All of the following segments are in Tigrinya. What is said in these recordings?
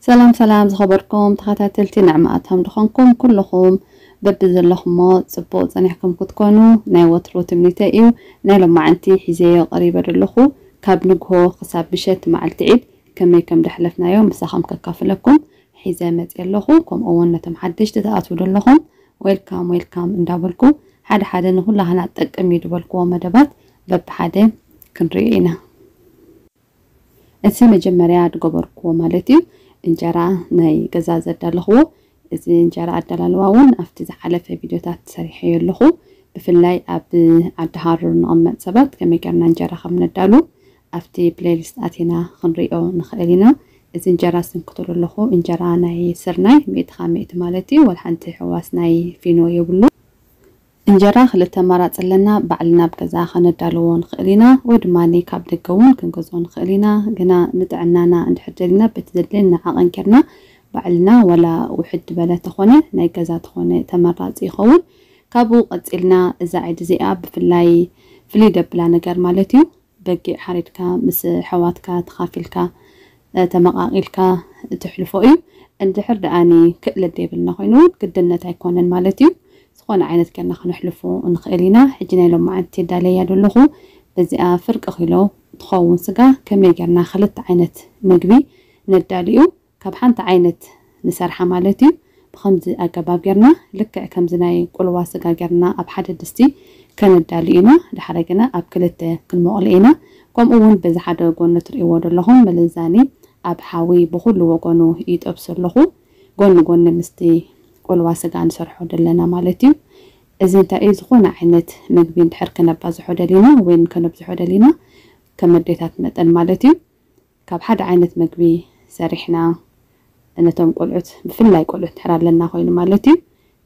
ሰላም ሰላም ዝኸበርኩም ተኸታተልቲ ንዕማኣቶም ድኾንኩም ኩልኹም በቢ ዘለኹሞ ጽቡቕ ጸኒሕኩም ክትኮኑ ናይ ወትሩ ትምኒተይ እዩ። ናይ ሎማዓንቲ ሒዘዮ ቀሪበ ዘለኹ ካብ ንግሆ ክሳብ ምሸት መዓልቲ ዒድ ከመይ ከም ደሕለፍናዮ ምሳኹም ከካፍለኩም ሒዘ መጽእ ኣለኹ። ከምኡ እውን ነቶም ሓደሽቲ ትኣትዉ ዘለኹም ዌልካም ዌልካም እንዳበልኩ ሓደ ሓደ ንኹላህና ጠቅም እዩ ዝበልክዎ መደባት በብሓደ ክንሪኦ ኢና። እቲ መጀመርያ ዝገበርክዎ ማለት እዩ እንጀራ ናይ ገዛ ዘዳለኽዎ። እዚ እንጀራ ኣዳላልዋ እውን ኣብቲ ዝሓለፈ ቪድዮታት ሰሪሐዮ ኣለኹ። ብፍላይ ኣብ ዓዲ ሃሩር ንቕመጥ ሰባት ከመይ ጌርና እንጀራ ከም ነዳሉ ኣብቲ ፕሌሊስት ኣቲና ክንሪኦ ንኽእል ኢና። እዚ እንጀራ ዝስንክተሉ ኣለኹ እንጀራ ናይ ስርናይ ሚእቲ ካብ ሚእቲ ማለት እዩ። ወላ ሓንቲ ሕዋስ ናይ ፊኖ የብሉ። እንጀራ ክልተ ኣማራፂ ኣለና። ባዕልና ኣብ ገዛ ከነዳልዎ ንኽእል ኢና ወይ ድማ ካብ ደገ እውን ክንገዝኦ ንኽእል ኢና። ግና ንጥዕናና እንድሕር ደሊና በቲ ዘድልየና ዓቐን ጌርና ባዕልና ዋላ ውሕድ ዝበለ ተኾነ ናይ ገዛ ተኾነ ተመራፂ ይኸውን። ካብኡ ቀፂልና እዛ ዒድ እዚኣ ብፍላይ ፍልይ ደብላ ነገር ማለት እዩ በጊዕ ሓሪድካ ምስ ኣሕዋትካ ተኻፊልካ ተመቓቒልካ እተሕልፎ እዩ። እንድሕር ደኣኒ ክእለት ዘይብልና ኮይኑ እውን ግድነት ኣይኮነን ማለት እዩ። ዝኾነ ዓይነት ጌርና ክነሕልፎ ንኽእል ኢና። ሕጂ ናይ ሎማዓንቲ የዳለያ ዘለኹ በዚኣ ፍርቂ ኪሎ ትኸውን ስጋ ከመይ ጌርና ክልተ ዓይነት ምግቢ ነዳልዩ ካብ ሓንቲ ዓይነት ንሰርሓ ማለት እዩ። ብኸምዚ ኣገባብ ጌርና ልክዕ ከምዚ ናይ ቁልዋ ስጋ ጌርና ኣብ ሓደ ድስቲ ከነዳሉ ኢና። ድሓረ ግና ኣብ ክልተ ክንመቕሎ ኢና። ከምኡ እውን በዚ ሓደ ጎኒ ትርእይዎ ዘለኹም መለዛኒ ኣብ ሓዊ ብኹሉ ወገኑ ይጠብሶ ኣለኹ። ጎኒ ጎኒ ምስቲ ቁልዋ ስጋ ንሰርሖ ዘለና ማለት እዩ። እዚ እንታይ እዩ ዝኾነ ዓይነት ምግቢ እንድሕር ከነባዝሖ ደሊና ወይ ከነብዝሖ ደሊና ከም ኣዴታት መጠን ማለት እዩ ካብ ሓደ ዓይነት መግቢ ሰሪሕና ነቶም ቆልዑት ብፍላይ ቆልዑት እንድሕር ኣለና ኮይኑ ማለት እዩ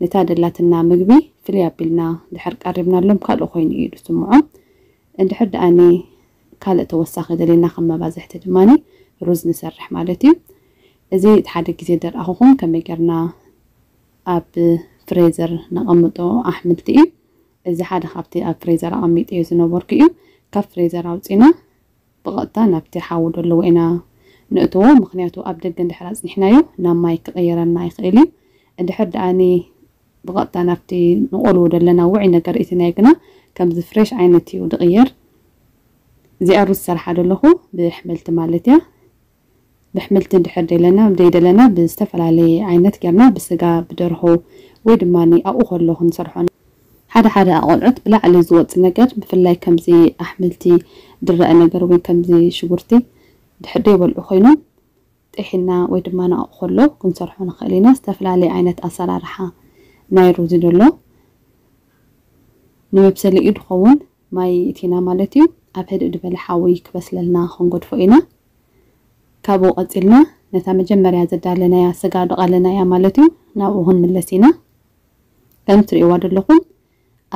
ነታ ደላትና ምግቢ ፍልይ ኣቢልና እንድሕር ቀሪብናሎም ካልእ ኮይኑ እዩ ዝስምዖም። እንድሕር ደኣኒ ካልእ ተወሳኺ ደሊና ከም መባዝሕቲ ድማ ሩዝ ንሰርሕ ማለት እዩ። እዚ እቲ ሓደ ግዜ ደርኣኹኹም ከመይ ጌርና ኣብ ፍሬዘር ነቐምጦ ኣሕምልቲ እዩ። እዚ ሓደ ካብቲ ኣብ ፍሬዘር ኣቐሚጠዮ ዝነበርኩ እዩ። ካብ ፍሬዘር ኣውፂና ብቐጥታ ናብቲ ሓዊ ዘለዎ ኢና ንእትዎ። ምኽንያቱ ኣብ ደገ እንድሕር ኣፅኒሕናዮ ናብ ማይ ክቕይረና ይኽእል እዩ። እንድሕር ደኣኒ ብቐጥታ ናብቲ ንቆልዎ ዘለና ውዑይ ነገር እትናዮ ግና ከምዚ ፍሬሽ ዓይነት እዩ ዝቕየር። እዚኣ ሩዝ ዝሰርሓ ዘለኹ ብሕምልቲ ማለት እያ። ብሕምልቲ እንድሕር ደለና ዘይደለና ብዝተፈላለየ ዓይነት ጌርና ብስጋ ብደርሆ ወይ ድማ ኣብኡ ከሎ ክንሰርሖ። ሓደ ሓደ ኣቆልዑት ብላዕሊ ዝወፅ ነገር ብፍላይ ከምዚ ኣሕምልቲ ድረአ ነገር ወይ ከምዚ ሽጉርቲ ድሕር ዘይበልዑ ኮይኖም ጥሒና ወይ ድማ ኣብኡ ከሎ ክንሰርሖ ንኽእል ኢና። ዝተፈላለየ ዓይነት ኣሰራርሓ ናይ ሩዝ ዘሎ ንመብሰሊ እዩ ድኸውን ማይ እቲና ማለት እዩ። ኣብ ህድእ ዝበለ ሓዊ ክበስለልና ክንገድፎ ኢና። ካብኡ ቀፂልና ነታ መጀመርያ ዘዳለናያ ስጋ ደቐለናያ ማለት እዩ ናብኡ ክንምለስ ኢና። ከም ትሪእዋ ዘለኹም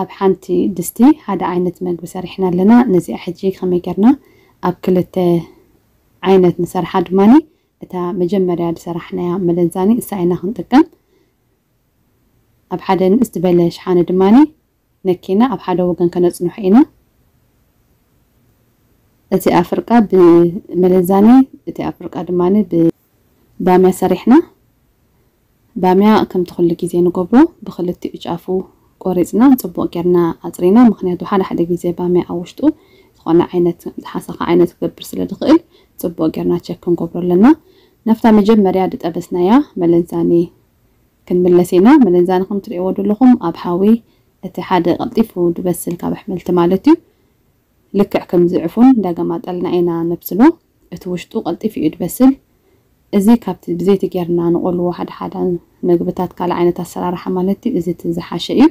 ኣብ ሓንቲ ድስቲ ሓደ ዓይነት መግቢ ሰሪሕና ኣለና። ነዚኣ ሕጂ ከመይ ጌርና ኣብ ክልተ ዓይነት ንሰርሓ ድማኒ እታ መጀመርያ ዝሰራሕናያ መለዛኒ እሳ ኢና ክንጥቀም። ኣብ ሓደ ንእስ ዝበለ ሽሓነ ድማኒ ነኪና ኣብ ሓደ ወገን ከነጽንሖ ኢና። እቲ ኣፍርቃ ብመለዛኒ እቲ ኣፍርቃ ድማ ብባምያ ሰሪሕና። ባምያ ከምቲ ኩሉ ግዜ ንገብሮ ብክልቲኡ ጫፉ ቆሪፅና ፅቡቅ ጌርና ኣፅሪና። ምክንያቱ ሓደ ሓደ ግዜ ባምያ ኣብ ውሽጡ ዝኾነ ዓይነት ዝሓሰኸ ዓይነት ክገብር ስለ ዝኽእል ፅቡቅ ጌርና ቸክ ክንገብሮ ኣለና። ናብታ መጀመርያ ዝጠበስናያ መለዛኒ ክንምለስ ኢና። መለዛኒ ከም ትሪእዎ ዘለኹም ኣብ ሓዊ እቲ ሓደ ቀልጢፉ ዝበስል ካብ ኣሕምልቲ ማለት እዩ። ልክዕ ከምዚ ዕፉን እንዳገማጠልና ኢና ነብስሎ። እቲ ውሽጡ ቀልጢፉ እዩ ዝበስል። እዚ ካብቲ ብዘይቲ ጌርና ንቆልዎ ሓደ ሓደ ምግብታት ካልእ ዓይነት ኣሰራርሓ ማለት እዩ። እዚ እቲ ዝሓሸ እዩ።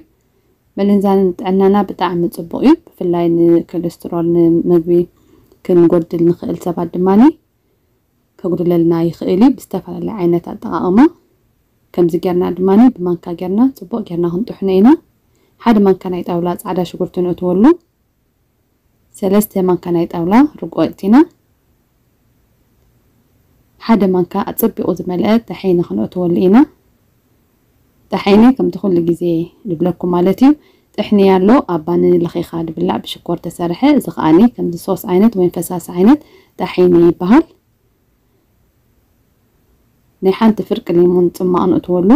መለንዛኒ ንጥዕናና ብጣዕሚ ጽቡቕ እዩ። ብፍላይ ንኮሌስትሮል ንምግቢ ክንጎድል ንኽእል ሰባት ድማኒ ከጉድለልና ይኽእል እዩ። ብዝተፈላለየ ዓይነት ኣጠቓቕማ ከምዚ ጌርና ድማኒ ብማንካ ጌርና ጽቡቕ ጌርና ክንጥሕኖ ኢና። ሓደ ማንካ ናይ ጣውላ ጻዕዳ ሽጉርቲ ንእትወሉ። ሰለስተ ማንካ ናይ ጣውላ ርጎ ኣእቲና። ሓደ ማንካ ኣጸቢቑ ዝመልአ ጠሒኒ ክንእትወሉ ኢና። ጠሒኒ ከምቲ ኩሉ ግዜ ዝብለኩም ማለት እዩ። ጥሕኒ ኣሎ ኣብ ባኒ ለኺኻ ድብላዕ ብሽኮር ተሰርሐ። እዚ ከኣኒ ከምዚ ሶስ ዓይነት ወይም ፈሳሲ ዓይነት ጠሒኒ ይበሃል። ናይ ሓንቲ ፍርቂ ሌሞን ጽማቕ ንእትወሉ።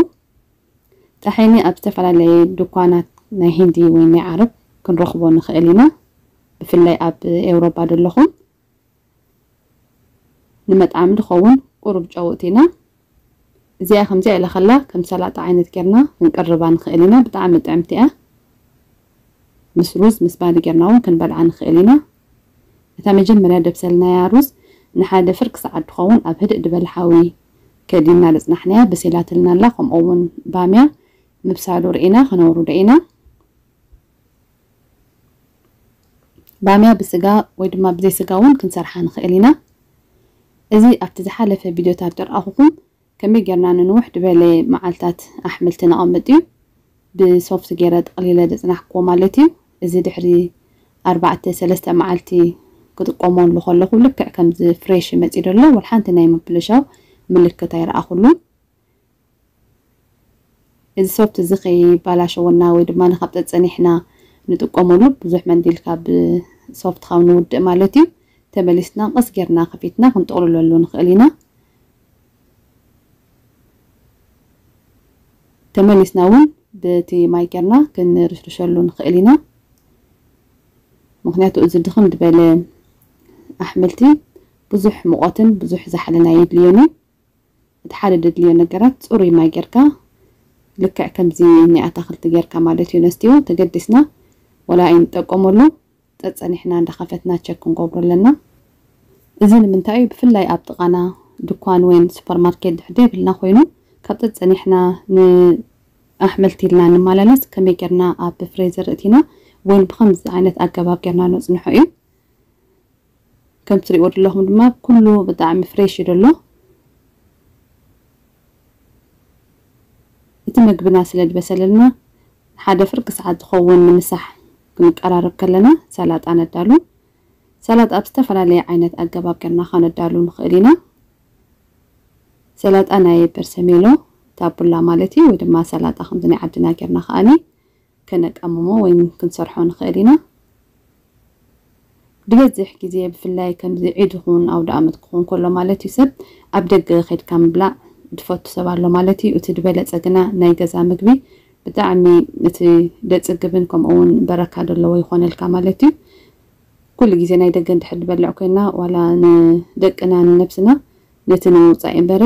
ጣሒኒ ኣብ ዝተፈላለየ ድኳናት ናይ ሂንዲ ወይ ናይ ዓረብ ክንረኽቦ ንኽእል ኢና። ብፍላይ ኣብ ኤውሮጳ ዘለኹም ንመጥዓሚ ዝኸውን ቁሩብ ጨው እቲና፣ እዚኣ ከምዚኣ ኢለ ከላ ከም ሰላጣ ዓይነት ጌርና ክንቅርባ ንኽእል ኢና። ብጣዕሚ ጥዕምቲ እያ። ምስ ሩዝ ምስ ባኒ ጌርና እውን ክንበልዓ ንኽእል ኢና። እታ መጀመርያ ደብሰልናያ ሩዝ ንሓደ ፍርቂ ሰዓት ትኸውን ኣብ ህድእ ዝበለ ሓዊ ከዲና ዘጽናሕናያ በሲላትልና ኣላ። ከምኡ እውን ባምያ ምብሳሉ ርኢና ከነውርዶ ኢና። ባምያ ብስጋ ወይ ድማ ብዘይ ስጋ እውን ክንሰርሓ ንኽእል ኢና። እዚ ኣብቲ ዝሓለፈ ቪድዮታት ዘርኣኹኹም ከመይ ጌርና ንንውሕ ዝበለ መዓልታት ኣሕምልቲ ነቐምጥ እዩ። ብሶፍት ገይረ ጠቕሊለ ዘጽናሕክዎ ማለት እዩ። እዚ ድሕሪ ኣርባዕተ ሰለስተ መዓልቲ ክጥቀመሉ ከለኹ ልክዕ ከምዚ ፍሬሽ ይመጽእ ዘሎ፣ ወላ ሓንቲ ናይ ምብልሻው ምልክት ኣይረኣኹሉን። እዚ ሶፍት እዚ ከይባላሸወና ወይ ድማ ንካብ ጸጸኒሕና ንጥቀመሉ ብዙሕ መንዲል ካብ ሶፍት ካብ ንውድእ ማለት እዩ። ተመሊስና ቀስ ጌርና ከፊትና ክንጥቕልለሉ ንኽእል ኢና። ተመሊስና እውን በቲ ማይ ጌርና ክንርሽርሸሉ ንኽእል ኢና። ምኽንያቱ እዚ ድኽም ዝበለ ኣሕምልቲ ብዙሕ ሙቐትን ብዙሕ ዛሕልን ኣየድልዮን እዩ። እቲ ሓደ ደድልዮ ነገራት ጽሩይ ማይ ጌርካ ልክዕ ከምዚ ናይ ኣታኽልቲ ጌርካ ማለት እዩ ነስትዮ ተገዲስና ወላ ኣይንጠቀመሉ ጸጸኒሕና እንዳኸፈትና ቸክ ክንገብሮ ኣለና። እዚ ንምንታይ እዩ? ብፍላይ ኣብ ጥቓና ድኳን ወይን ሱፐርማርኬት ድሕር ዘይብልና ኮይኑ ካብ ጸጸኒሕና ንኣሕምልቲ ኢልና ንመላለስ ከመይ ጌርና ኣብ ፍሬዘር እቲና ወይን ብኸምዚ ዓይነት ኣገባብ ጌርና ነጽንሖ እዩ። ከም ትሪእዎ ዘለኹም ድማ ኩሉ ብጣዕሚ ፍሬሽ እዩ ዘሎ። እቲ መግብና ስለ ዝበሰለልና ሓደ ፍርቂ ሰዓት ዝኸውን ንምሳሕ ክንቀራረብ ከለና ሰላጣ ነዳሉ። ሰላጣ ኣብ ዝተፈላለየ ዓይነት ኣገባብ ጌርና ከነዳሉ ንኽእል ኢና። ሰላጣ ናይ በርሰሜሎ ታቡላ ማለት እዩ፣ ወይ ድማ ሰላጣ ከምዚ ናይ ዓድና ጌርና ከኣኒ ከነቃምሞ ወይ ክንሰርሖ ንኽእል ኢና። ዝበዝሕ ግዜ ብፍላይ ከምዚ ዒድ ይኹን ኣውደ ኣመት ክኾን ከሎ ማለት እዩ ሰብ ኣብ ደገ ከድካ ምብላዕ ዝፈቱ ሰብ ኣሎ ማለት እዩ። እቲ ዝበለጸ ግና ናይ ገዛ ምግቢ ብጣዕሚ እቲ ደጽግብን ከምኡ እውን በረካ ዘለዎ ይኾነልካ ማለት እዩ። ኩሉ ግዜ ናይ ደገ እንድሕር ንበልዕ ኮይና ዋላ ንደቅና ንነብስና ነቲ ንምውጻእ እምበረ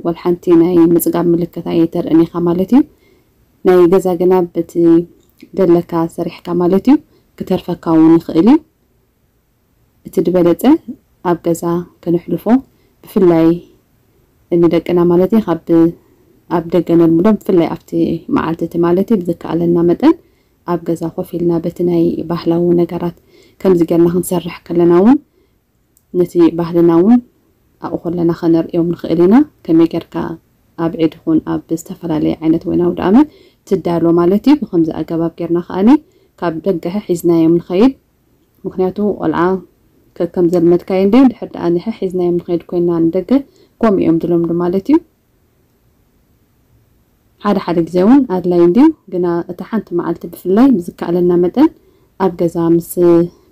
ወላ ሓንቲ ናይ ምጽጋብ ምልክት ኣየተርእን ኢኻ ማለት እዩ። ናይ ገዛ ግና በቲ ደለካ ሰሪሕካ ማለት እዩ ክተርፈካ እውን ይኽእል እዩ። እቲ ዝበለጸ ኣብ ገዛ ከነሕልፎ ብፍላይ ንደቅና ማለት እዩ ካብ ኣብ ደገ ነልምዶም ብፍላይ ኣብቲ መዓልቲ እቲ ማለት እዩ ብዝከኣለና መጠን ኣብ ገዛ ኮፍ ኢልና በቲ ናይ ባህላዊ ነገራት ከምዚ ጌርና ክንሰርሕ ከለና እውን ነቲ ባህልና እውን ኣብኡ ከለና ከነርእዮም ንኽእል ኢና። ከመይ ጌርካ ኣብ ዒድ ይኹን ኣብ ዝተፈላለየ ዓይነት ወይን ኣውደ ኣመት ትዳሎ ማለት እዩ። ብኸምዚ ኣገባብ ጌርና ከኣኒ ካብ ደገ ሒዝናዮም ንኸይድ። ምኽንያቱ ቆልዓ ከከም ዘልመድካዮ እንድዩ ድሕር ደኣ ንሐ ሒዝናዮም ንኸይድ ኮይና ንደገ ከምኡ እዮም ዝለምዱ ማለት እዩ። ሓደ ሓደ ግዜ እውን ኣድላይ እንድዩ፣ ግና እታ ሓንቲ መዓልቲ ብፍላይ ብዝከኣለና መጠን ኣብ ገዛ ምስ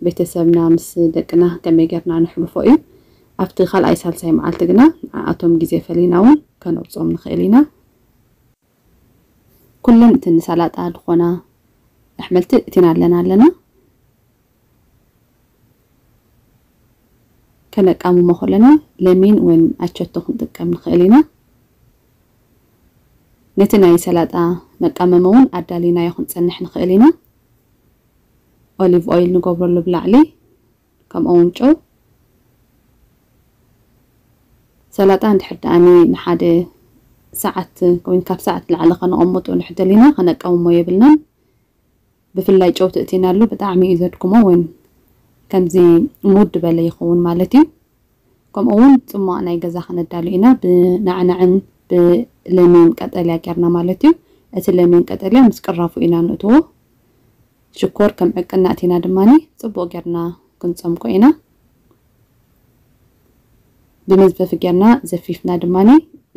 ቤተሰብና ምስ ደቅና ከመይ ጌርና ነሕልፎ እዩ። ኣብቲ ካልኣይ ሳልሳይ መዓልቲ ግና ንዓኣቶም ግዜ ፈሊና እውን ከነውፅኦም ንኽእል ኢና። ኩለን እቲ ንሰላጣ ዝኾና ኣሕምልቲ እቲና ኣለና ኣለና። ከነቃምሞ ከለና ለሚን ወይ ኣቸቶ ክንጥቀም ንኽእል ኢና። ነቲ ናይ ሰላጣ መቃመሚ እውን ኣዳሊናዮ ክንጸንሕ ንኽእል ኢና። ኦሊቭ ኦይል ንገብረሉ ብላዕሊ፣ ከምኡ እውን ጨው። ሰላጣ እንድሕር ደኣኒ ንሓደ ሰዓት ወይ ካብ ሰዓት ንላዕሊ ከነቐምጦ እንድሕር ደሊና ከነቃምሞ የብልናን። ብፍላይ ጨው ተእቲናሉ ብጣዕሚ እዩ ዘድክሞ፣ ወይ ከምዚ ሙድ በለ ይኸውን ማለት እዩ። ከምኡ እውን ጽሟቕ ናይ ገዛ ከነዳሉ ኢና፣ ብናዕናዕን ብለሚን ቀጠልያ ጌርና ማለት እዩ። እቲ ለሚን ቀጠልያ ምስ ቅራፉ ኢና ንእትዎ። ሽኮር ከም ዕቅና እቲና ድማ ጽቡቕ ጌርና ክንጸምቆ ኢና። ብመዝፈፊ ጌርና ዘፊፍና ድማ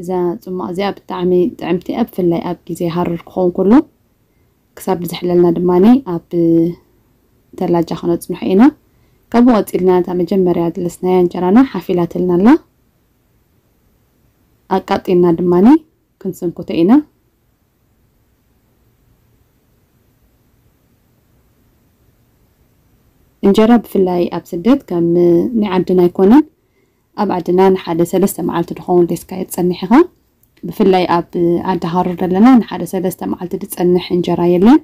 እዛ ጽሟቕ እዚኣ ብጣዕሚ ጥዕምቲ እያ፣ ብፍላይ ኣብ ግዜ ሃሩር ክኸውን ከሎ ክሳብ ዝሕለልና ድማ ኣብ ተላጃ ከነጽንሖ ኢና። ካብኡ ቀጺልና እታ መጀመርያ ዝለስናያ እንጀራና ሓፍ ኢላትልና ኣላ። ኣቃጢና ድማኒ ክንስንኩቶ ኢና። እንጀራ ብፍላይ ኣብ ስደት ከም ናይ ዓድና ኣይኮነን። ኣብ ዓድና ንሓደ ሰለስተ መዓልቲ ድኸውን ሌስካ የትጸንሕ ኢኻ። ብፍላይ ኣብ ዓዲ ሃሩር ዘለና ንሓደ ሰለስተ መዓልቲ ዝጸንሕ እንጀራ የለን።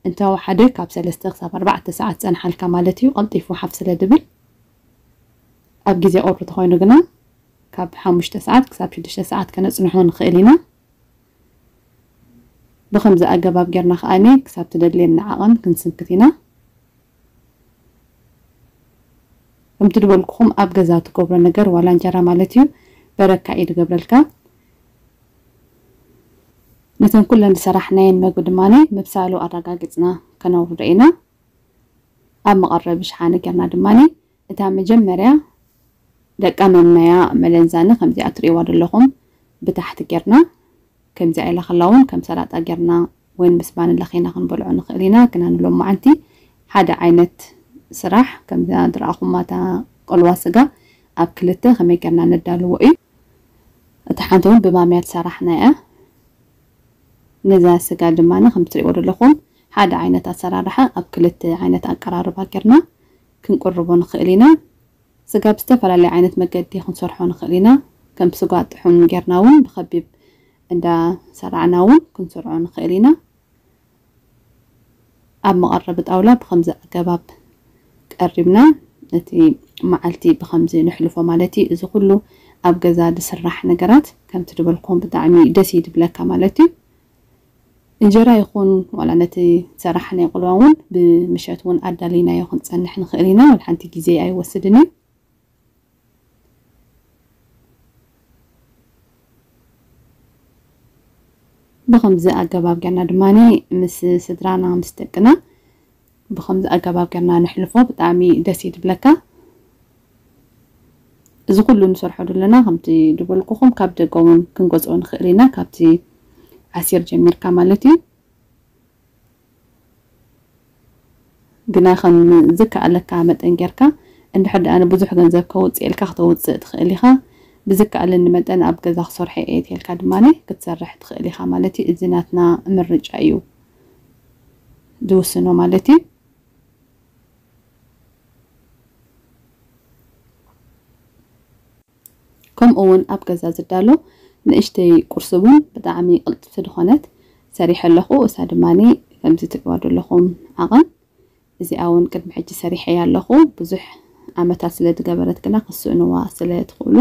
እንተወሓደ ካብ ሰለስተ ክሳብ ኣርባዕተ ሰዓት ጸንሓልካ ማለት እዩ፣ ቀልጢፉ ሓፍ ስለ ድብል። ኣብ ግዜ ቁሪ ተኾይኑ ግና ካብ ሓሙሽተ ሰዓት ክሳብ ሽዱሽተ ሰዓት ከነጽንሖ ንኽእል ኢና። ብኸምዚ ኣገባብ ጌርና ከኣኒ ክሳብ ትደልየና ዓቐን ክንስንክት ኢና። ከምቲ ድበልኩኹም ኣብ ገዛ ትገብሮ ነገር ዋላ እንጀራ ማለት እዩ በረካ እዩ ድገብረልካ። ነተን ኩለን ዝሰራሕናየን መግቢ ድማኒ ምብሳሉ ኣረጋጊጽና ከነውርዶ ኢና። ኣብ መቐረቢ ሽሓነ ጌርና ድማኒ እታ መጀመርያ ደቃመምናያ መለንዛኒ ከምዚኣ ትርእይዋ ዘለኹም ብታሕቲ ጌርና ከምዚኣ ኢላ ከላ እውን ከም ሰላጣ ጌርና ወይን ምስ ባኒ ለኺና ክንበልዖ ንኽእል ኢና። ግና ንሎማዓንቲ ሓደ ዓይነት ስራሕ ከምዛ ድረኣኹማ እታ ቆልዋ ስጋ ኣብ ክልተ ከመይ ጌርና ነዳልዎ እዩ። እታ ሓንቲ እውን ብማምያ ትሰራሕና እያ። ነዛ ስጋ ድማ ከም ትሪእዎ ዘለኹም ሓደ ዓይነት ኣሰራርሓ ኣብ ክልተ ዓይነት ኣቀራርባ ጌርና ክንቅርቦ ንኽእል ኢና። ስጋ ብዝተፈላለየ ዓይነት መገዲ ክንሰርሖ ንኽእል ኢና። ከም ስጋ ጥሑን ጌርና እውን ብኸቢብ እንዳ ሰራዕና እውን ክንሰርዖ ንኽእል ኢና። ኣብ መቐረቢ ጣውላ ብኸምዚ ኣገባብ ቀሪብና ነቲ መዓልቲ ብኸምዚ ነሕልፎ ማለት እዩ። እዚ ኩሉ ኣብ ገዛ ዝስራሕ ነገራት ከምቲ ዝበልኩም ብጣዕሚ ደስ እዩ ዝብለካ ማለት እዩ። እንጀራ ይኹን ዋላ ነቲ ሰራሕ ናይ ቆልዋ እውን ብምሸት እውን ኣዳሊናዮ ክንጸንሕ ንኽእል ኢና። ወላ ሓንቲ ግዜ ኣይወስድን እዩ። ብኸምዚ ኣገባብ ጌርና ድማኒ ምስ ስድራና ምስ ደቅና ብኸምዚ ኣገባብ ጌርና ነሕልፎ ብጣዕሚ ደስ እዩ ዝብለካ። እዚ ኩሉ ንሰርሖ ዘለና ከምቲ ዝበልኩኹም ካብ ደገ እውን ክንገዝኦ ንኽእል ኢና፣ ካብቲ ዓሲር ጀሚርካ ማለት እዩ። ግና ከም ዝከኣለካ መጠን ጌርካ እንድሕር ደኣ ንብዙሕ ገንዘብ ከውፅእ ኢልካ ክተውፅእ ትኽእል ኢኻ። ብዝከኣለኒ መጠን ኣብ ገዛ ክሰርሖ እየ ተልካ ድማ ክትሰርሕ ትኽእል ኢኻ ማለት እዩ። እዚ ናትና ምርጫ እዩ ዝውስኖ ማለት እዩ። ከምኡ እውን ኣብ ገዛ ዝዳሎ ንእሽተይ ቁርሲ እውን ብጣዕሚ ቅልጥፍቲ ዝኾነት ሰሪሐ ኣለኹ። እሳ ድማ ከምዚ ትሪእዋ ዘለኹም ዓቐን እዚኣ እውን ቅድሚ ሕጂ ሰሪሐያ ኣለኹ። ብዙሕ ዓመታት ስለ ዝገበረት ግና ክትስእንዋ ስለ ትኽእሉ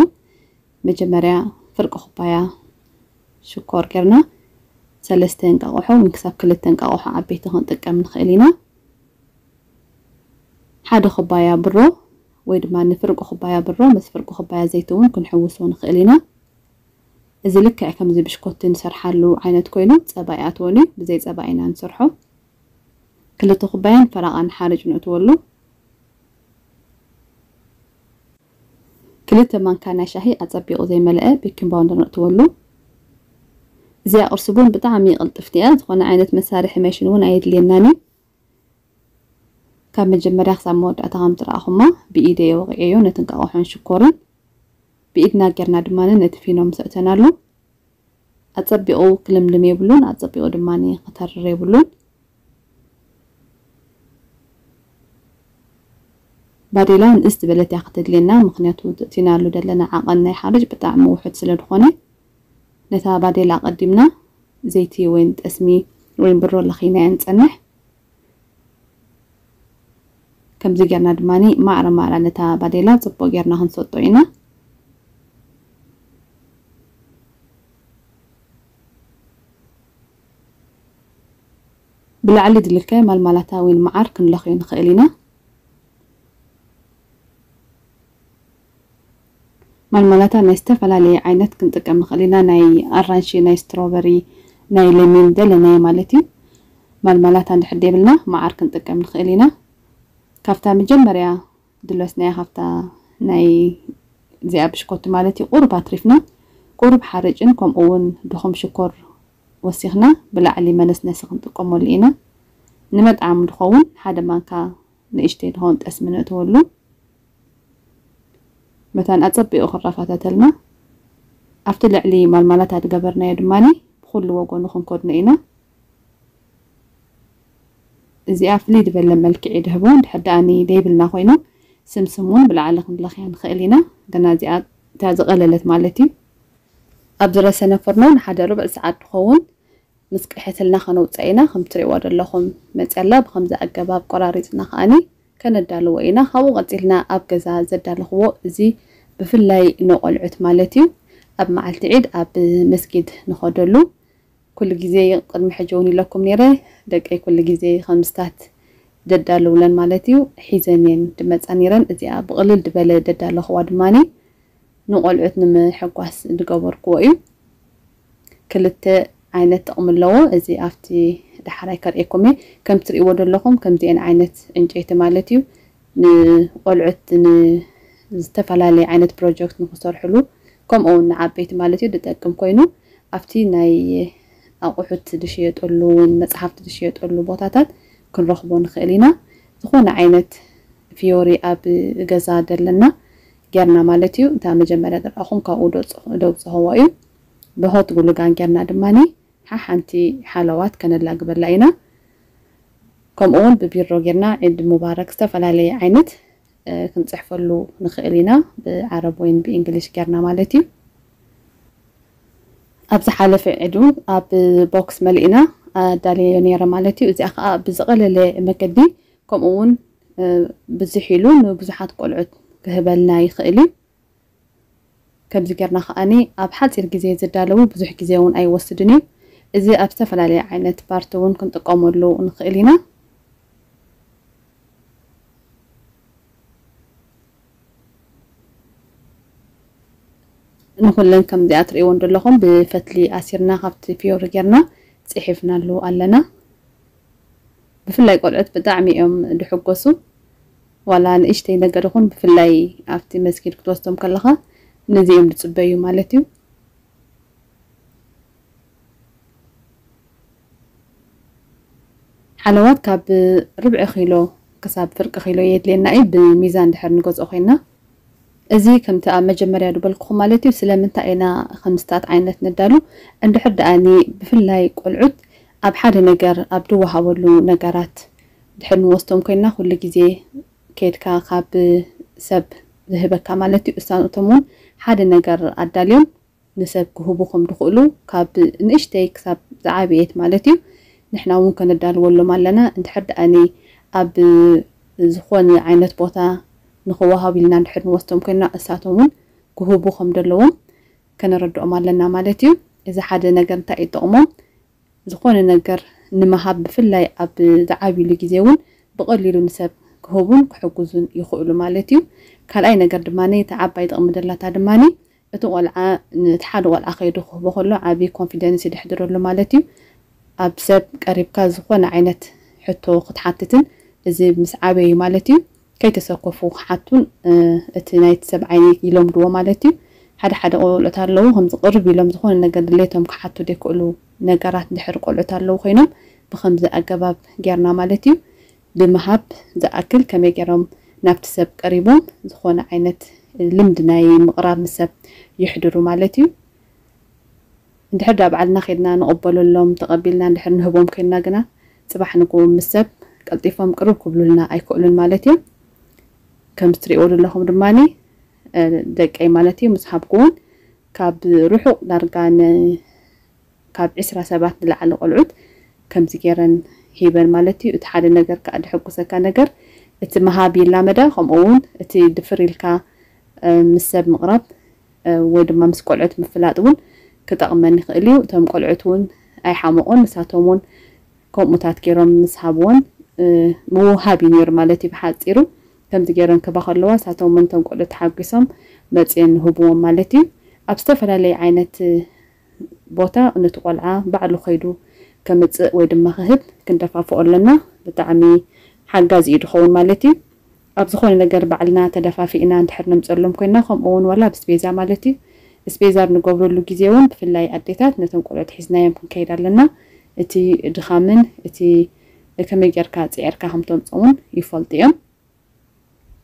መጀመርያ ፍርቂ ኩባያ ሽኮር ጌርና ሰለስተ እንቃቑሖ ወይ ክሳብ ክልተ እንቃቑሖ ዓበይቲ ክንጥቀም ንኽእል ኢና። ሓደ ኩባያ ብሮ ወይ ድማ ንፍርቂ ኩባያ ብሮ ምስ ፍርቂ ኩባያ ዘይቲ እውን ክንሕውሶ ንኽእል ኢና። እዚ ልክዕ ከምዚ ብሽኮቲ ንሰርሓሉ ዓይነት ኮይኑ ጸባ ይኣትወሉ፣ ብዘይ ጸባ ኢና ንሰርሖ። ክልተ ኩባያን ፈረቓን ሓርጭ ንእትወሉ። ክልተ ማንካ ናይ ሻሂ ኣጸቢቑ ዘይመልአ ቤኪንግ ፓውደር ንእትወሉ። እዚኣ ቁርሲ ቡን ብጣዕሚ ቅልጥፍቲ እያ። ዝኾነ ዓይነት መሳርሒ መሽን እውን ኣየድልየናን እዩ። ካብ መጀመርያ ክሳብ መወዳእታ ከም ትረኣኹማ ብኢደ እየ ወቒዐዮ ነቲ እንቃቑሖን ሽኮርን። ብኢድና ጌርና ድማ ነቲ ፊኖ ምስ ኣእተናሉ ኣጸቢቑ ክልምልም የብሉን፣ ኣጸቢቑ ድማ ክተርር የብሉን። ባዴላ ንእስ ዝበለት እያ ክትድልየና፣ ምኽንያቱ እቲ እቲናሉ ዘለና ዓቐን ናይ ሓርጭ ብጣዕሚ ውሑድ ስለ ዝኾነ ነታ ባዴላ ኣቐዲምና ዘይቲ ወይን ጠስሚ ወይን ብሮ ለኺናያ ንጸንሕ። ከምዚ ጌርና ድማ ማዕረ ማዕረ ነታ ባዴላ ጽቡቕ ጌርና ክንሰጦ ኢና። ብላዕሊ ዝልከ ማልማላታ ወይ መዓር ክንለኽዮ ንኽእል ኢና። ማልማላታ ናይ ዝተፈላለየ ዓይነት ክንጥቀም ንኽእል ኢና። ናይ ኣራንሺ፣ ናይ ስትሮበሪ፣ ናይ ለሚን ዘለናዮ ማለት እዩ። ማልማላታ እንድሕር ደይብልና መዓር ክንጥቀም ንኽእል ኢና። ካብታ መጀመርያ ድለስናያ ካብታ ናይ እዚኣ ብሽኮቲ ማለት እዩ ቁሩብ ኣትሪፍና ቁሩብ ሓርጭን ከምኡ እውን ድኹም ሽኮር ወሲኽና ብላዕሊ መነስነሲ ክንጥቀመሉ ኢና። ንመጥዓም ድኸውን ሓደ ማንካ ንእሽተይ ድኸውን ጠስሚ ነእትወሉ። መታን ኣጸቢቑ ክረፋተተልና ኣብቲ ልዕሊ ማልማላታ ዝገበርናዮ ድማ ብኩሉ ወገኑ ክንከድኖ ኢና። እዚኣ ፍልይ ዝበለ መልክዕ ይድህቦ። እንድሕር ደኣ ዘይብልና ኮይኑ ስምስም እውን ብላዕሊ ክንለኽያ ንኽእል ኢና። ግና እዚኣ እታ ዝቐለለት ማለት እዩ። ኣብ ዝረሰነ ፍርኖ ንሓደ ርብዕ ሰዓት ትኸውን ምስ ቅሕትልና ከነውፅኣ ኢና። ከም ትሪእዋ ዘለኹም መፅያ ኣላ። ብከምዚ ኣገባብ ቆራሪፅና ከኣኒ ከነዳልዎ ኢና። ካብኡ ቀፂልና ኣብ ገዛ ዘዳለኽዎ እዚ ብፍላይ ንቆልዑት ማለት እዩ ኣብ መዓልቲ ዒድ ኣብ መስጊድ ንኸደሉ ኩሉ ግዜ ቅድሚ ሕጂ እውን ኢለኩም ነይረ ደቀይ ኩሉ ግዜ ከምስታት ደዳልውለን ማለት እዩ ሒዘን እየን ድመፃ ነይረን። እዚኣ ብቕልል ድበለ ደዳለኽዋ ድማኒ ንቆልዑት ንምሕጓስ ዝገበርክዎ እዩ። ክልተ ዓይነት ጥቕሚ ኣለዎ። እዚ ኣብቲ ዳሕራይ ከርእየኩም እየ። ከም ትርእይዎ ዘለኹም ከምዚአን ዓይነት ዕንጨይቲ ማለት እዩ ንቆልዑት ን- ዝተፈላለየ ዓይነት ፕሮጀክት ንክሰርሕሉ ከምኡ እውን ንዓበይቲ ማለት እዩ ዝጠቅም ኮይኑ ኣብቲ ናይ ኣቑሑት ዝሽየጠሉ እውን መፅሓፍቲ ዝሽየጠሉ ቦታታት ክንረኽቦ ንኽእል ኢና። ዝኾነ ዓይነት ፊዮሪ ኣብ ገዛ ዘለና ጌርና ማለት እዩ። እታ መጀመርያ ዝረኣኹም ካብኡ ደውፅኸዎ እዩ። ብሆት ጉሉጋን ጌርና ድማ ሓሓንቲ ሓለዋት ከነላግበላ ኢና። ከምኡ እውን ብቢሮ ጌርና ዒድ ሙባረክ ዝተፈላለየ ዓይነት ክንፅሕፈሉ ንኽእል ኢና። ብዓረብ ወይን ብእንግሊሽ ጌርና ማለት እዩ። ኣብ ዝሓለፈ ዒድ እውን ኣብ ቦክስ መሊእና ኣዳልየዮ ነይረ ማለት እዩ። እዚኣ ከዓ ብዝቐለለ መገዲ ከምኡ እውን ብዝሕ ኢሉ ንብዙሓት ቆልዑት ክህበልና ይኽእል እዩ። ከምዚ ጌርና ከኣኒ ኣብ ሓፂር ግዜ ዝዳለዉ ብዙሕ ግዜ እውን ኣይወስድን እዩ። እዚ ኣብ ዝተፈላለየ ዓይነት ፓርቲ እውን ክንጥቀመሉ ንኽእል ኢና። ንኩለን ከምዚኣ ትርእይወን ዘለኹም ብፈትሊ ኣሲርና ካብቲ ፊዮሪ ጌርና ፅሒፍናሉ ኣለና። ብፍላይ ቆልዑት ብጣዕሚ እዮም ድሕጎሱ። ዋላ ንእሽተይ ነገር ይኹን ብፍላይ ኣብቲ መስጊድ ክትወስዶም ከለኻ ነዚ እዮም ዝፅበዩ ማለት እዩ። ሓለዋት ካብ ርብዒ ኪሎ ክሳብ ፍርቂ ኪሎ የድልየና እዩ ብሚዛን ድሕር ንገዝኦ ኮይና። እዚ ከምቲ ኣብ መጀመርያ ዝበልኩኹም ማለት እዩ ስለምንታይ ኢና ከምስታት ዓይነት ነዳሉ እንድሕር ደኣኒ ብፍላይ ቆልዑት ኣብ ሓደ ነገር ኣብ ድወሃበሉ ነገራት ድሕር ንወስዶም ኮይና ኩሉ ግዜ ከድካ ካብ ሰብ ዝህበካ ማለት እዩ እሳቶም እውን ሓደ ነገር ኣዳልዮም ንሰብ ክህቡ ከም ዝኽእሉ ካብ ንእሽተይ ክሳብ ዝዓበየት ማለት እዩ ንሕና እውን ከነዳልወሎም ኣለና። እንድሕር ደኣኒ ኣብ ዝኾነ ዓይነት ቦታ ንኽወሃብ ኢልና እንድሕር ንወስዶም ኮይና እሳቶም እውን ክህቡ ከም ዘለዎም ከነረድኦም ኣለና ማለት እዩ። እዚ ሓደ ነገር እንታይ እዩ ጥቕሞም? ዝኾነ ነገር ንምሃብ ብፍላይ ኣብ ዝዓብይሉ ግዜ እውን ብቐሊሉ ንሰብ ክህቡን ክሕግዙን ይኽእሉ ማለት እዩ። ካልኣይ ነገር ድማ እቲ ዓባይ ጥቕሚ ደላታ ድማ እቲ ቆልዓ ነቲ ሓደ ቆልዓ ከይዱ ክህቦ ከሎ ዓብዪ ኮንፊደንስ ይድሕድረሉ ማለት እዩ። ኣብ ሰብ ቀሪብካ ዝኾነ ዓይነት ሕቶ ክትሓትትን እዚ ምስ ዓበዩ ማለት እዩ ከይተሰከፉ ክሓቱን እቲ ናይቲ ሰብ ዓይኒ ይለምድዎ ማለት እዩ። ሓደ ሓደ ቆልዑት ኣለዉ ከምዚ ቅርብ ኢሎም ዝኾነ ነገር ድሌቶም ክሓቱ ዘይክእሉ ነገራት ድሕር ቆልዑት ኣለዉ ኮይኖም ብከምዚ ኣገባብ ጌርና ማለት እዩ ብምሃብ ዝኣክል ከመይ ገይሮም ናብቲ ሰብ ቀሪቦም ዝኾነ ዓይነት ልምዲ ናይ ምቕራብ ምስ ሰብ ይሕድሩ ማለት እዩ። እንድሕር ዳ ባዕልና ከድና ንቕበለሎም ተቐቢልና እንድሕር ንህቦም ኮይንና ግና ፅባሕ ንግሆ ምስ ሰብ ቀልጢፎም ቅርብ ክብሉልና ኣይክእሉን ማለት እዮም። ከም ትሪእዎ ዘለኹም ድማ ደቀይ ማለት እዩ ምስ ሃብኩ እውን ካብ ርሑቕ ዳርጋ ካብ ዕስራ ሰባት ንላዕሊ ቆልዑት ከምዚ ገይረን ሂበን ማለት እዩ። እቲ ሓደ ነገር ከዓ ድሕጉሰካ ነገር እቲ ምሃብ ይላመዳ ከምኡ እውን እቲ ድፍር ኢልካ ምስ ሰብ ምቕራብ ወይ ድማ ምስ ቆልዑት ምፍላጥ እውን ክጠቕመን ይኽእል እዩ። እቶም ቆልዑት እውን ኣይሓመቑን ንሳቶም እውን ከምኡታት ገይሮም ምስ ሃብዎን ምውሃብ እዩ ነይሩ ማለት እዩ ብሓፂሩ ከምዚ ገይረን ክባ ከለዋ ንሳቶም እውን እቶም ቆልዑት ተሓጒሶም መፅየን ንህብዎም ማለት እዩ። ኣብ ዝተፈላለየ ዓይነት ቦታ ነቲ ቆልዓ ባዕሉ ከይዱ ከምፅእ ወይ ድማ ክህብ ክንደፋፍኦ ኣለና። ብጣዕሚ ሓጋዚ እዩ ዝኸውን ማለት እዩ። ኣብ ዝኾነ ነገር ባዕልና ተደፋፊእና እንድሕር ነምፀሎም ኮይና ከምኡ እውን ዋላ ብስቤዛ ማለት እዩ ስቤዛ ኣብ ንገብረሉ ግዜ እውን ብፍላይ ኣዴታት ነቶም ቆልዑት ሒዝናዮም ክንከይድ ኣለና። እቲ ድኻምን እቲ ከመይ ጌርካ ፅዒርካ ከምተምፅኦምን ይፈልጡ እዮም።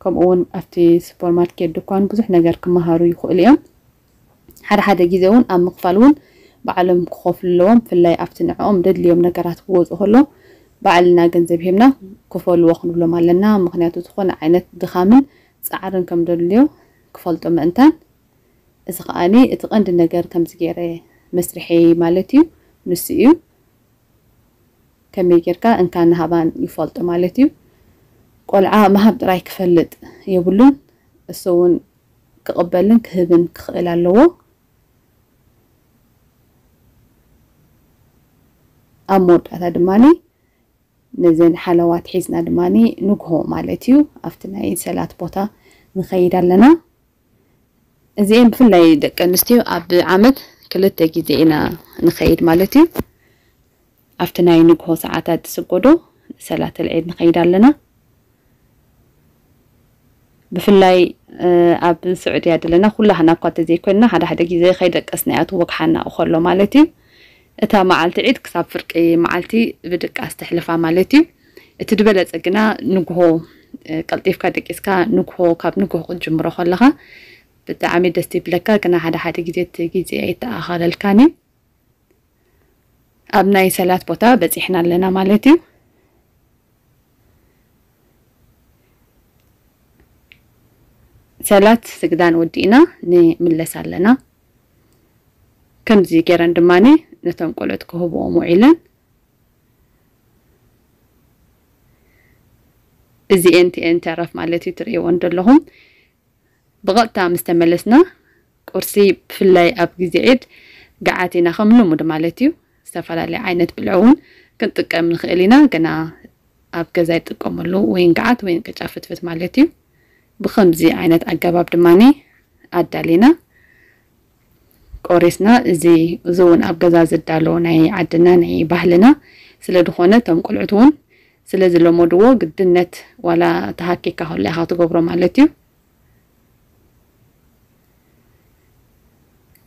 ከምኡ እውን ኣብቲ ሱፐርማርኬት ድኳን ብዙሕ ነገር ክመሃሩ ይኽእሉ እዮም። ሓደ ሓደ ግዜ እውን ኣብ ምኽፋል እውን ባዕሎም ክኸፍሉ ኣለዎም። ብፍላይ ኣብቲ ንዕኦም ደድልዮም ነገራት ክወፁ ከሎ ባዕልና ገንዘብ ሂብና ክፈልዎ ክንብሎም ኣለና። ምክንያቱ ዝኾነ ዓይነት ድኻምን ፃዕርን ከም ደድልዮ ክፈልጦ ምእንታን። እዚ ከዓኒ እቲ ቀንዲ ነገር ከምዚ ገይረ መስርሐይ ማለት እዩ፣ ንሱ እዩ። ከመይ ጌርካ እንካን ሃባን ይፈልጦ ማለት እዩ። ቆልዓ ምሃብ ጥራይ ክፈልጥ የብሉን፣ እሱ እውን ክቕበልን ክህብን ክኽእል ኣለዎ። ኣብ መወዳእታ ድማ ነዘን ሓለዋት ሒዝና ድማ ንግሆ ማለት እዩ ኣብቲ ናይ ሰላት ቦታ ንኸይድ ኣለና። እዚኤን ብፍላይ ደቂ ኣንስትዮ ኣብ ዓመት ክልተ ግዜ ኢና ንኸይድ ማለት እዩ። ኣብቲ ናይ ንግሆ ሰዓታት ዝስገዶ ሰላት ልዒድ ንኸይድ ኣለና። ብፍላይ ኣብ ስዑድያ ዘለና ኩላህና እኳ እንተዘይኮንና ሓደ ሓደ ግዜ ከይደቀስና እያ ትወግሓና እኸሎ ማለት እዩ። እታ መዓልቲ ዒድ ክሳብ ፍርቂ መዓልቲ ብድቃስ ተሕልፋ ማለት እዩ። እቲ ዝበለጸ ግና ንግሆ ቀልጢፍካ ደቂስካ ንግሆ ካብ ንግሆ ክትጅምሮ ከለኻ ብጣዕሚ ደስ ይብለካ። ግና ሓደ ሓደ ግዜ እቲ ግዜ ኣይተኣኻለልካን እዩ። ኣብ ናይ ሰላት ቦታ በጺሕና ኣለና ማለት እዩ። ሰላት ስግዳን ወዲእና ንምለስ ኣለና። ከምዚ ገይረን ድማ ነቶም ቆልዑት ክህብኦም ውዒለን። እዚኤን ቲኤን ተረፍ ማለት እዩ፣ ትርእይወን ዘለኹም። ብቐጥታ ምስ ተመለስና ቁርሲ ብፍላይ ኣብ ግዜ ዒድ ገዓት ኢና ከም ልሙድ ማለት እዩ። ዝተፈላለየ ዓይነት ብልዒ እውን ክንጥቀም ንኽእል ኢና፣ ግና ኣብ ገዛ ይጥቀመሉ ወይን ገዓት ወይን ቅጫ ፍትፍት ማለት እዩ። ብኸምዚ ዓይነት ኣገባብ ድማ ኣዳሊና ቆሪስና። እዚ እዚ እውን ኣብ ገዛ ዝዳሎ ናይ ዓድና ናይ ባህልና ስለ ዝኾነ እቶም ቆልዑት እውን ስለ ዝለመድዎ ግድነት ዋላ ተሃኪካ ከሎ ኢኻ ትገብሮ ማለት እዩ።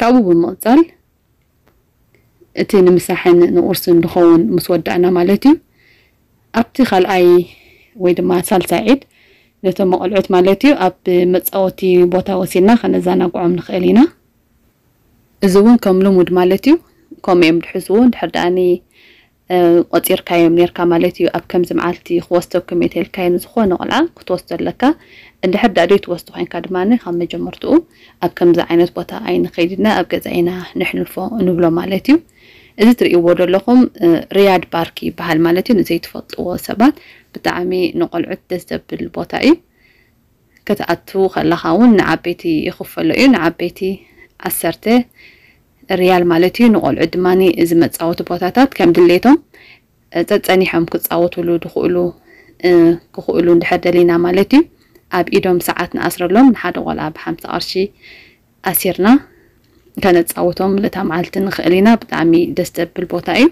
ካብኡ ብምቕጻል እቲ ንምሳሕን ንቁርስን ዝኸውን ምስ ወዳእና ማለት እዩ፣ ኣብቲ ካልኣይ ወይ ድማ ሳልሳይ ዒድ ነቶም ቆልዑት ማለት እዩ ኣብ መጻወቲ ቦታ ወሲድና ከነዘናግዖም ንኽእል ኢና። እዚ እውን ከም ልሙድ ማለት እዩ። ከምኡ እዮም ዝሕስቡ። ድሕር ደኣኒ ቆጺርካዮም ኔርካ ማለት እዩ። ኣብ ከምዚ መዓልቲ ክወስደኩም እየ ተልካዮ ንዝኾነ ቆልዓ ክትወስዶ ኣለካ። እንድሕር ደኣ ዘይትወስዶ ኮይንካ ድማ ካብ መጀመርትኡ ኣብ ከምዚ ዓይነት ቦታ ኣይንኸይድና ኣብ ገዛ ኢና ንሕልፎ ንብሎ ማለት እዩ። እዚ ትርእይዎ ዘለኹም ሪያድ ባርክ ይበሃል ማለት እዩ። ንዘይትፈልጥዎ ሰባት ብጣዕሚ ንቆልዑት ደስ ዘብል ቦታ እዩ። ክትኣቱ ከለኻ እውን ንዓበይቲ ይኽፈሎ እዩ። ንዓበይቲ ዓሰርተ ሪያል ማለት እዩ። ንቆልዑ ድማ እዚ መፃወቲ ቦታታት ከም ድሌቶም ጸጸኒሖም ክፃወትሉ ድኽእሉ ክኽእሉ እንድሕር ደሊና ማለት እዩ። ኣብ ኢዶም ሰዓት ንኣስረሎም፣ ንሓደ ቆልዓ ብሓምሳ ቅርሺ ኣሲርና ከነፃውቶም ለታ መዓልቲ ንኽእል ኢና። ብጣዕሚ ደስ ዘብል ቦታ እዩ።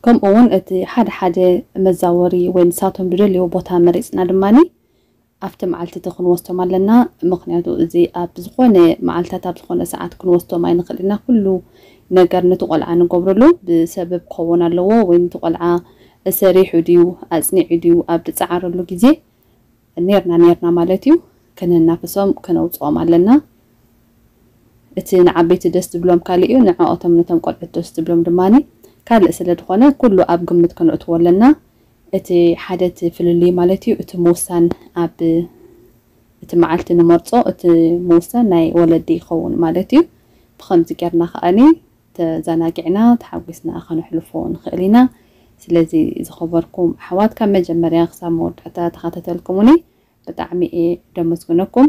ከምኡ እውን እቲ ሓደ ሓደ መዛወሪ ወይ ንሳቶም ዝደልዮ ቦታ መሪፅና ድማ ኣብቲ መዓልቲ እቲ ክንወስዶም ኣለና። ምክንያቱ እዚ ኣብ ዝኾነ መዓልታት ኣብ ዝኾነ ሰዓት ክንወስዶም ኣይንኽእል ኢና። ኩሉ ነገር ነቲ ቆልዓ ንገብረሉ ብሰበብ ክኸውን ኣለዎ። ወይ ነቲ ቆልዓ ሰሪሑ ድዩ ኣፅኒዑ ድዩ ኣብ ዝፀዓረሉ ግዜ ኔርና ኔርና ማለት እዩ ከነናፍሶም ከነውፅኦም ኣለና። እቲ ንዓበይቲ ደስ ዝብሎም ካልእ እዩ፣ ንዕኦቶም ነቶም ቆልዑት ደስ ዝብሎም ድማ ካልእ ስለ ዝኾነ ኩሉ ኣብ ግምት ከነእትዎ ኣለና። እቲ ሓደ እቲ ፍልልይ ማለት እዩ እቲ ምውሳን ኣብ እቲ መዓልቲ ንመርፆ እቲ ምውሳን ናይ ወለዲ ይኸውን ማለት እዩ። ብኸምዚ ጌርና ከኣኒ ተዘናጊዕና ተሓጒስና ከነሕልፎ ንኽእል ኢና። ስለዚ ዝኸበርኩም ኣሕዋት ካብ መጀመርያ ክሳብ መወዳእታ ተኸታተልኩምኒ ብጣዕሚ እየ ደመስግነኩም።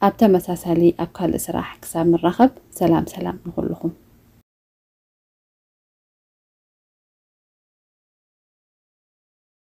ኣብ ተመሳሳሊ ኣብ ካልእ ስራሕ ክሳብ ንራኸብ ሰላም ሰላም ንኹልኹም።